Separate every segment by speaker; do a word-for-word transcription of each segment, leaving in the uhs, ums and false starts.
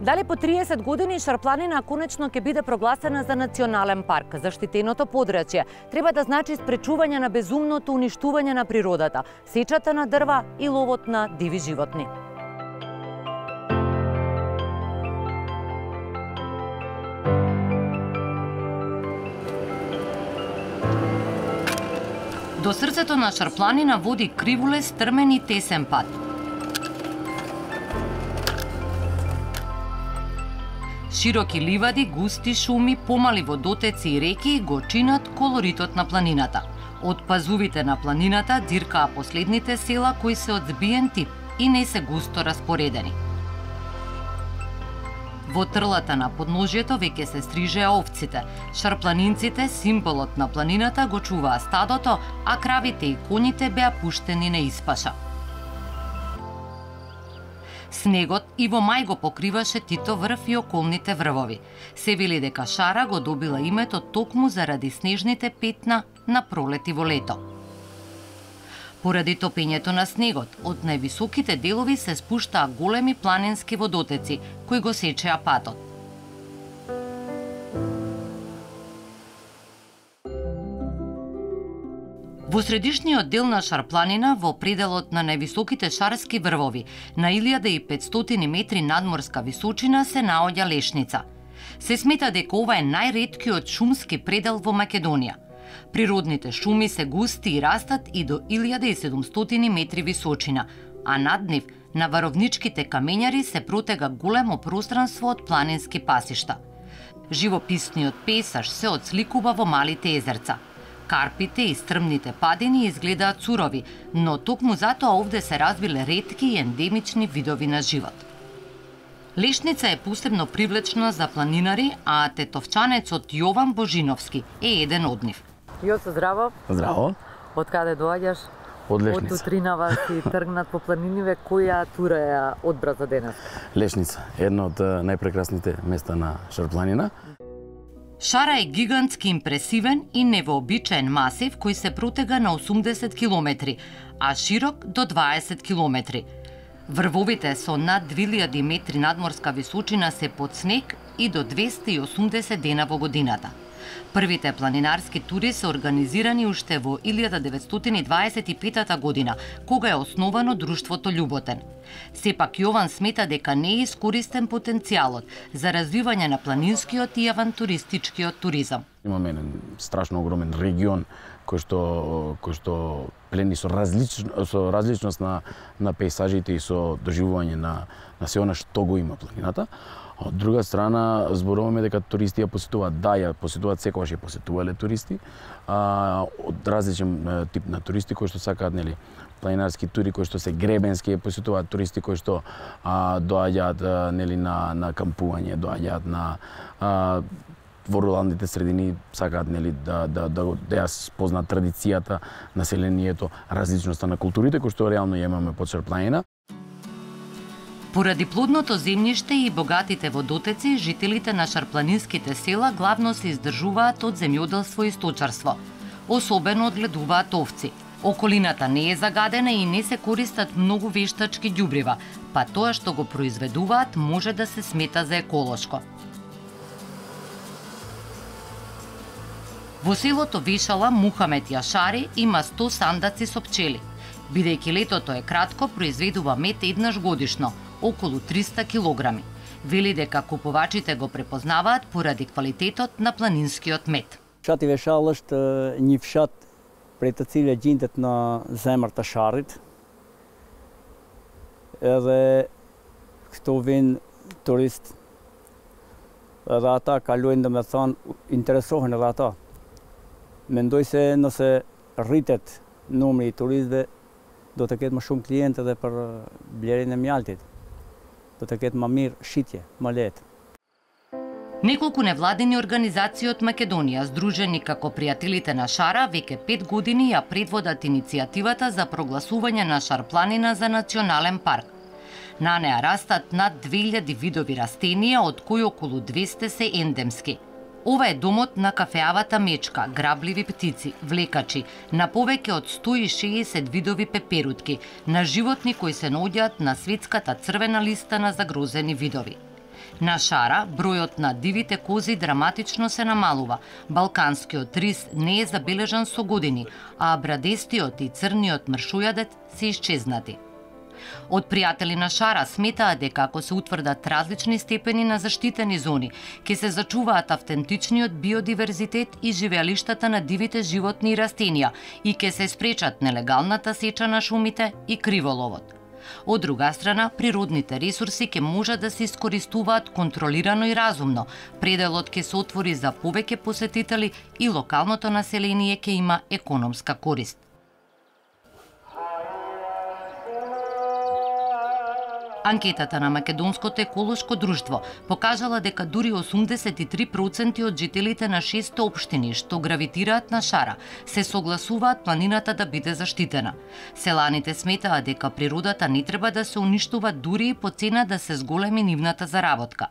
Speaker 1: Дали по триесет години Шарпланина конечно ќе биде прогласена за национален парк? Заштитеното подрачје треба да значи спречување на безумното уништување на природата, сечата на дрва и ловот на диви животни. До срцето на Шарпланина води кривуле, стрмен и тесен пат. Широки ливади, густи шуми, помали водотеци и реки го чинат колоритот на планината. Од пазувите на планината диркаа последните села кои се од збиен тип и не се густо распоредени. Во трлата на подножјето веќе се стрижеа овците. Шарпланинците, символот на планината, го чуваа стадото, а кравите и коњите беа пуштени на испаша. Снегот и во мај го покриваше Тито врв и околните врвови. Се вели дека Шара го добила името токму заради снежните петна на пролет и во лето. Поради топењето на снегот, од највисоките делови се спуштаа големи планински водотеци, кои го сечеа патот. Во средишниот дел на Шарпланина, во пределот на највисоките шарски врвови, на илјада и петстотини метри надморска височина се наоѓа Лешница. Се смета дека ова е најреткиот шумски предел во Македонија. Природните шуми се густи и растат и до илјада и седумстотини метри височина, а над нив, на варовничките камењари, се протега големо пространство од планински пасишта. Живописниот пейзаж се отсликува во малите езерца. Карпите и стрмните падини изгледаат сурови, но токму затоа овде се развиле ретки и ендемични видови на живот. Лешница е посебно привлечна за планинари, а тетовчанецот Јован Божиновски е еден од нив.
Speaker 2: Јоцо, здраво.
Speaker 3: Здраво.
Speaker 2: Од каде доаѓаш?
Speaker 3: Од Лешница.
Speaker 2: Од утринава си тргнат по планиниве, која тура ја одбра за денес?
Speaker 3: Лешница, едно од најпрекрасните места на Шарпланина.
Speaker 1: Шара е гигантски импресивен и невообичаен масив кој се протега на осумдесет километри, а широк до дваесет километри. Врвовите со над две илјади метри надморска височина се под снег и до двесте и осумдесет дена во годината. Првите планинарски тури се организирани уште во илјада деветстотини дваесет и пета година, кога е основано друштвото Љуботен. Сепак Јован смета дека не е искористен потенцијалот за развивање на планинскиот и авантуристичкиот туризам.
Speaker 3: Имаме еден страшно огромен регион кој што кој што плени со различно со различност на на пејзажите и со доживување на на се она што го има планината. Од друга страна, зборуваме дека туристи ја посетуваат, да, ја посетуваат, секогаш ја посетувале туристи, а, од различен тип на туристи кои што сакаат, нели, планинарски тури кои што се гребенски, ја посетуваат туристи кои што а, доаѓаат, нели, на на кампување, доаѓаат на а, во руралните средини, сакаат, нели, да да да да ја спознаат традицијата, населението, различноста на културите кои што реално ја имаме под Шарпланина.
Speaker 1: Поради плодното земјиште и богатите водотеци, жителите на шарпланинските села главно се издржуваат од земјоделство и сточарство. Особено одгледуваат овци. Околината не е загадена и не се користат многу вештачки ѓубрива, па тоа што го произведуваат може да се смета за еколошко. Во селото Вешала Мухамет Јашари има сто сандаци со пчели. Бидејќи летото е кратко, произведува мед еднаш годишно, околу триста килограми. Вели дека купувачите го препознаваат поради квалитетот на планинскиот мед.
Speaker 4: Fshati Veshall është një fshat prej të cilëve gjendet në zemër të Sharrit. Edhe këtu vinë turistë. Edhe ata kalojnë, domethënë, interesohen edhe ata. Mendoj se nëse rritet numri i turistëve, do të ketë më shumë klientë edhe për blerjen e mjaltit. Do të ketë më mirë shitje, më lehtë.
Speaker 1: Неколку невладини организации од Македонија, здружени како пријателите на Шара, веќе пет години ја предводат иницијативата за прогласување на Шарпланина за национален парк. На неа растат над две илјади видови растенија, од кои околу двесте се ендемски. Ова е домот на кафеавата мечка, грабливи птици, влекачи, на повеќе од сто и шеесет видови пеперутки, на животни кои се наоѓаат на светската црвена листа на загрозени видови. На Шара, бројот на дивите кози драматично се намалува. Балканскиот рис не е забележан со години, а брадестиот и црниот мршујадет се исчезнати. Од пријатели на Шара сметаат дека ако се утврдат различни степени на заштитени зони, ќе се зачуваат автентичниот биодиверзитет и живеалиштата на дивите животни и растенија и ќе се спречат нелегалната сеча на шумите и криволовот. Од друга страна, природните ресурси ќе можат да се искористуваат контролирано и разумно. Пределот ќе се отвори за повеќе посетители и локалното население ќе има економска корист. Анкетата на Македонското еколошко друштво покажала дека дури осумдесет и три проценти од жителите на шест општини што гравитираат на Шара се согласуваат планината да биде заштитена. Селаните сметаат дека природата не треба да се уништува дури и по цена да се зголеми нивната заработка.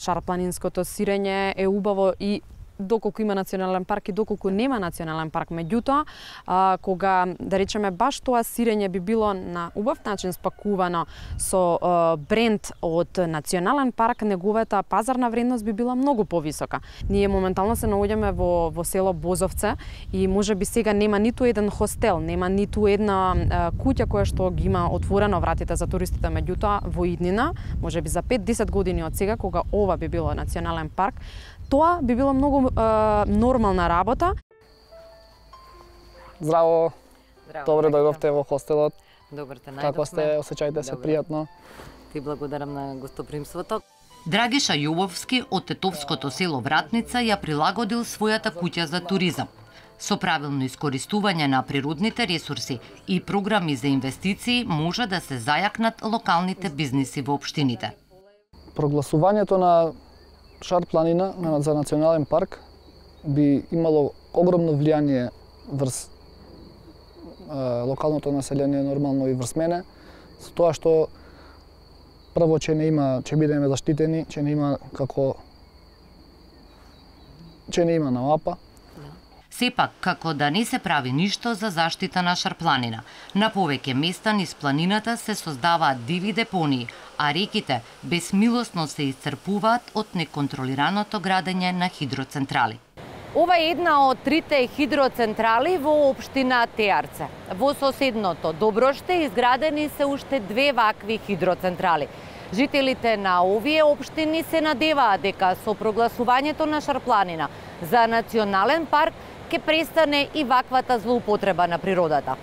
Speaker 5: Шарпланинското сирење е убаво и доколку има национален парк и доколку нема национален парк. Меѓутоа, а, кога, да речеме, баш тоа сирење би било на убав начин спакувано со а, бренд од национален парк, неговата пазарна вредност би била многу повисока. Ние моментално се наоѓаме во, во село Бозовце и може би сега нема ниту еден хостел, нема ниту една а, куќа која што ги има отворено вратите за туристите. Меѓутоа, во иднина, може би за пет до десет години од сега, кога ова би било национален парк, тоа би било многу е, нормална работа.
Speaker 6: Здраво.
Speaker 2: Здраво.
Speaker 6: Добре дојдовте во хостелот.
Speaker 2: Добре те најдовме.
Speaker 6: Како сте? Осеќајте се пријатно.
Speaker 2: Ти благодарам на гостопримството.
Speaker 1: Драгиша Јововски од тетовското село Вратница ја прилагодил својата куќа за туризам. Со правилно искористување на природните ресурси и програми за инвестиции може да се зајакнат локалните бизниси во општините.
Speaker 6: Прогласувањето на Шар планина за национален парк би имало огромно влијание врз е, локалното население, нормално и врз мене, со тоа што прво че не има, че бидеме заштитени, че не има како че не има наапа.
Speaker 1: Сепак, како да не се прави ништо за заштита на Шарпланина. На повеќе места низ планината се создаваат диви депонии, а реките безмилосно се исцрпуваат од неконтролираното градење на хидроцентрали.
Speaker 7: Ова е една од трите хидроцентрали во општина Теарце. Во соседното Доброште изградени се уште две вакви хидроцентрали. Жителите на овие општини се надеваат дека со прогласувањето на Шарпланина за национален парк ќе престане и ваквата злоупотреба на природата.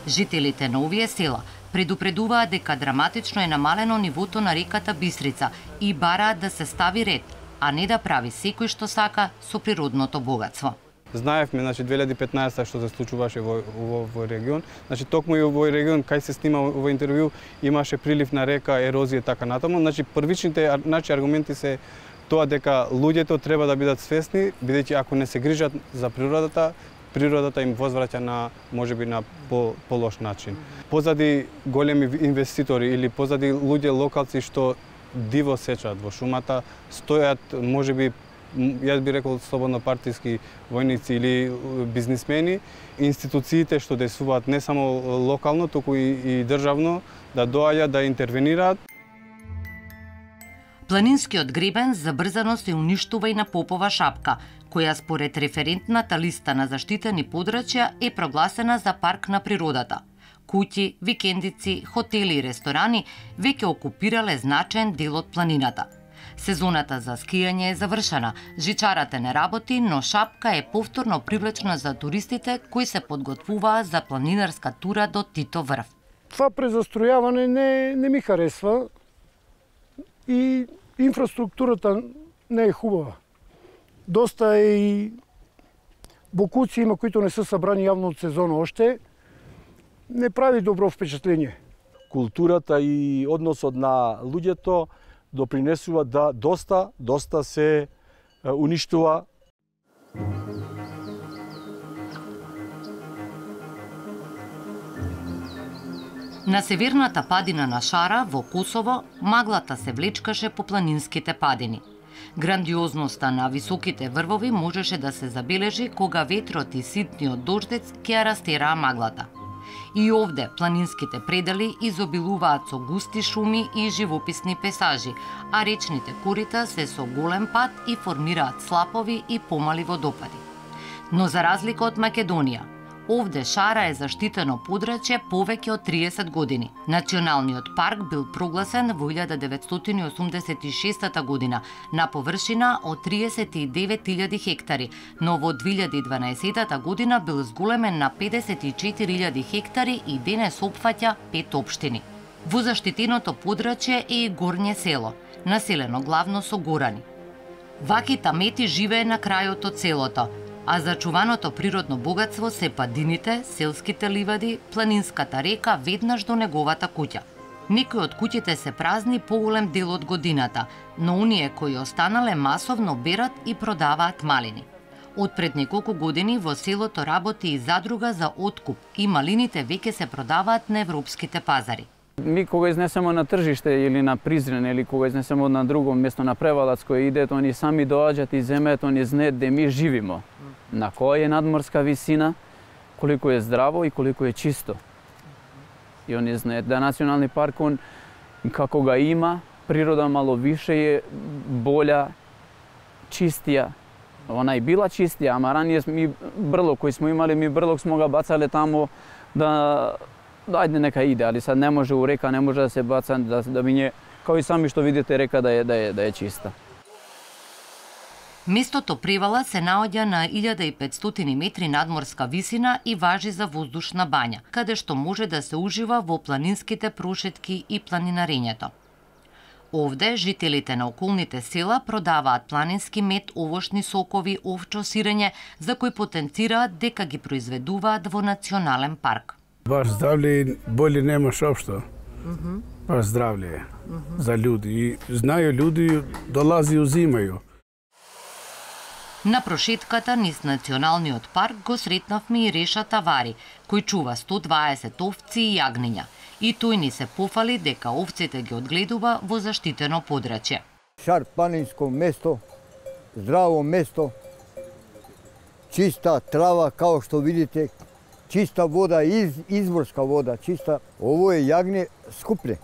Speaker 1: Жителите на овие села предупредуваат дека драматично е намалено нивото на реката Бистрица и бараат да се стави ред, а не да прави секој што сака со природното богатство.
Speaker 8: Знаевме, значи две илјади и петнаесета што се случуваше во овој регион. Значи токму и овој регион кај се снима во интервју имаше прилив на река, ерозија така натаму. Значи првичните значи аргументи се тоа дека луѓето треба да бидат свесни, бидејќи ако не се грижат за природата, природата им возвраќа на можеби на по, по лош начин. Позади големи инвеститори или позади луѓе локалци што диво сечат во шумата, стојат можеби јас би рекол слободно партиски војници или бизнисмени, институциите што действуваат не само локално, туку и, и државно, да доаѓаат да интервенираат.
Speaker 1: Планинскиот гребен забрзано се уништува и на Попова шапка, која според референтната листа на заштитени подрачја е прогласена за парк на природата. Куќи, викендици, хотели и ресторани веќе окупирале значаен дел од планината. Сезоната за скијање е завршена, жичарата не работи, но шапка е повторно привлечна за туристите кои се подготвуваа за планинарска тура до Тито врв.
Speaker 9: Това презастројавање не, не ми харесва и инфраструктурата не е хубава. Доста е и бокуци има кои не се събрани јавно од сезона оште. Не прави добро впечатление.
Speaker 10: Културата и односот на луѓето допринесува да доста, доста се уништува.
Speaker 1: На северната падина на Шара, во Косово, маглата се влечкаше по планинските падини. Грандиозноста на високите врвови можеше да се забележи кога ветрот и ситниот дождец ќе ја растераа маглата. И овде планинските предели изобилуваат со густи шуми и живописни пейзажи, а речните корита се со голем пат и формираат слапови и помали водопади. Но за разлика од Македонија, овде Шара е заштитено подрачје повеќе од триесет години. Националниот парк бил прогласен во илјада деветстотини осумдесет и шеста година на површина од триесет и девет илјади хектари, но во две илјади и дванаесета година бил зголемен на педесет и четири илјади хектари и денес опфаќа пет општини. Во заштитеното подрачје е и Горње село, населено главно со горани. Ваки тамети живее на крајот од селото, а зачуваното природно богатство се падините, селските ливади, планинската река веднаш до неговата куќа. Некои од куќите се празни поголем дел од годината, но оние кои останале масовно берат и продаваат малини. Од пред неколку години во селото работи и задруга за откуп и малините веќе се продаваат на европските пазари.
Speaker 4: Ми кога изнесемо на тржиште или на Призрен или кога изнесемо на друго место на Превалац кој идет, они сами доаѓаат и земеат, они знаат де ми живимо. На која е надморска висина, колико е здраво и колико е чисто. И они знаат да национални парк он како ga има, природа мало више е болја, чистија. Она и била чистија, ама ранije ми брлок кој смо имали, ми брлок смо га бацале тамо да да ајде нека иде, али сад не може у река, не може да се баца, да, да биње, као и сами што видите река да е, да е, да е чиста.
Speaker 1: Местото Превала се наоѓа на илјада и петстотини метри надморска висина и важи за воздушна бања, каде што може да се ужива во планинските прошетки и планинарењето. Овде жителите на околните села продаваат планински мед, овошни сокови, овчо сирење, за кои потенцираат дека ги произведуваат во национален парк.
Speaker 11: Баш здравле боли немаш општо. Mm-hmm. Баш здравле mm-hmm. за луѓе. И знају луѓе, долази и узимају.
Speaker 1: На прошетката низ националниот парк го сретнавме и Реша Тавари, кој чува сто дваесет овци и јагниња. И тој ни се пофали дека овците ги одгледува во заштитено подрачје.
Speaker 12: Шар планинско место, здраво место, чиста трава, као што видите, чиста вода, из, изворска вода, чиста. Ово е јагне скупле,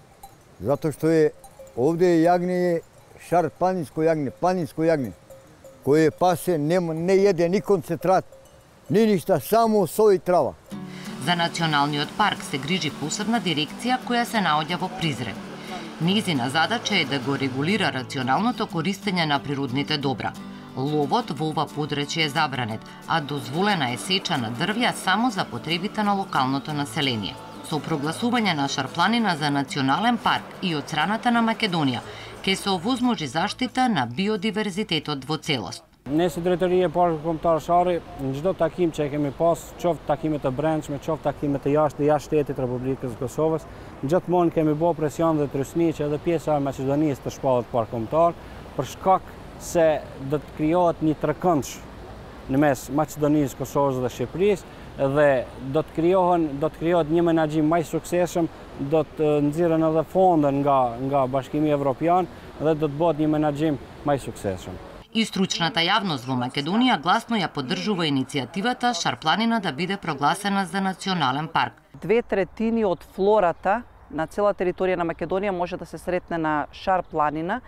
Speaker 12: затоа што е овде е јагне, шар планинско јагне, планинско јагне, кое пасе, не, не једе ни концентрат, ни ништа, само сој и трава.
Speaker 1: За националниот парк се грижи посебна дирекција која се наоѓа во Призрен. Незина задача е да го регулира рационалното користење на природните добра. Ловот во ова подрачје е забранет, а дозволена е сеча на дрвја само за потребите на локалното население. Со прогласување на Шарпланина за национален парк и од страната на Македонија, ќе се овозможи заштита на биодиверзитетот во целост.
Speaker 13: Ne si drejtoria e Parkut Kombëtar Shari, në çdo takim që e kemi pas, qoftë takime të brendshme, qoftë takime të jashtë jashtë shtetit Republikës së Kosovës, gjithmonë kemi bërë presion dhe trysni që edhe pjesa e Maqedonisë të shpallet park kombëtar, për shkak se do të krijohet një trekëndsh në mes Maqedonisë, Kosovës dhe Shqipërisë dhe do të krijohen do të krijohet një menaxhim më i suksesshëm, do të nxirren edhe fonde nga nga Bashkimi Evropian dhe do të bëhet një menaxhim më i suksesshëm.
Speaker 1: И стручната јавност во Македонија гласно ја поддржува иницијативата Шарпланина да биде прогласена за национален парк.
Speaker 14: Две третини од флората на цела територија на Македонија може да се сретне на Шарпланина.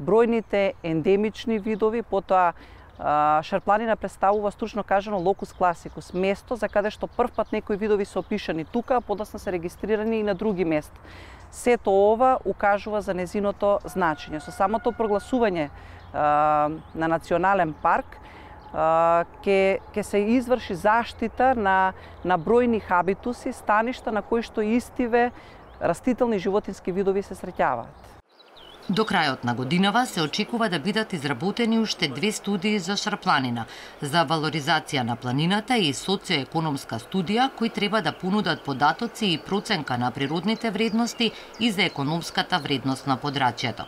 Speaker 14: Бројните ендемични видови, потоа Шарпланина представува стручно кажано локус класикус, место за каде што првпат некои видови се опишани тука, а подоцна се регистрирани и на други места. Сето ова укажува за незиното значење. Со самото прогласување на национален парк ќе ќе се изврши заштита на на бројни хабитуси, станишта на кои што истиве растителни и животински видови се среќаваат.
Speaker 1: До крајот на годинава се очекува да бидат изработени уште две студии за Шарпланина, за валоризација на планината и социоекономска студија, кои треба да понудат податоци и проценка на природните вредности и за економската вредност на подрачјето.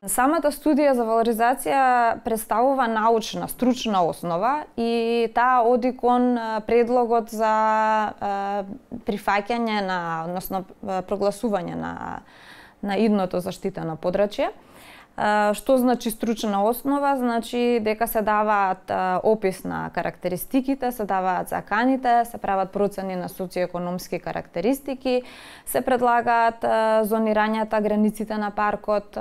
Speaker 15: Самата студија за валоризација представува научна, стручна основа и таа оди кон предлогот за прифаќање на, односно прогласување на на идното заштитено подрачје. Што значи стручна основа? Значи дека се даваат опис на карактеристиките, се даваат заканите, се прават процени на социоекономски карактеристики, се предлагаат зонирањата, границите на паркот,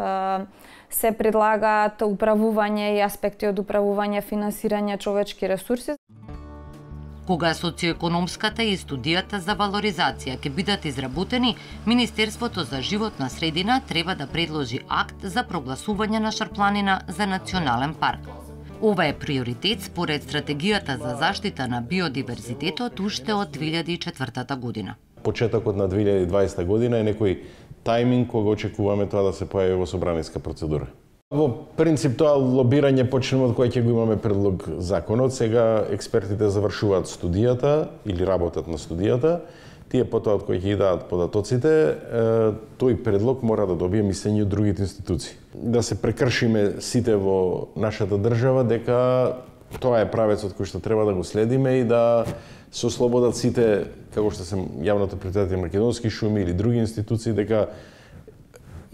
Speaker 15: се предлагаат управување и аспекти од управување, финансирање, човечки ресурси.
Speaker 1: Кога социоекономската и студијата за валоризација ќе бидат изработени, Министерството за животна средина треба да предложи акт за прогласување на Шарпланина за национален парк. Ова е приоритет според стратегијата за заштита на биодиверзитетот уште од две илјади и четвртата година.
Speaker 16: Почетокот на две илјади и дваесета година е некој тајминг кога очекуваме тоа да се појави во собраниска процедура. Во принцип тоа лобирање почнува од кога ќе го имаме предлог законот. Сега експертите завршуваат студијата или работат на студијата. Тие потоа од кои ќе ги дадат податоците, тој предлог мора да добие мислење од другите институции. Да се прекршиме сите во нашата држава дека тоа е правецот кој што треба да го следиме и да се ослободат сите, како што се јавното предпријатие Македонски шуми или други институции, дека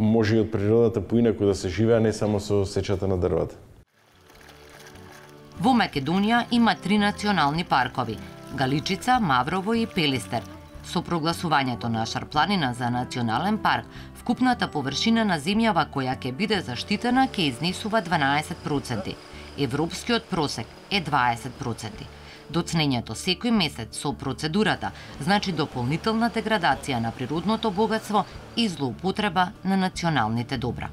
Speaker 16: може и од природата поинаку да се живее, не само со сечата на дрвата.
Speaker 1: Во Македонија има три национални паркови – Галичица, Маврово и Пелистер. Со прогласувањето на Шарпланина за национален парк, вкупната површина на земјава која ќе биде заштитена ќе изнесува дванаесет проценти. Европскиот просек е дваесет проценти. Доцнењето секој месец со процедурата значи дополнителна деградација на природното богатство и злоупотреба на националните добра.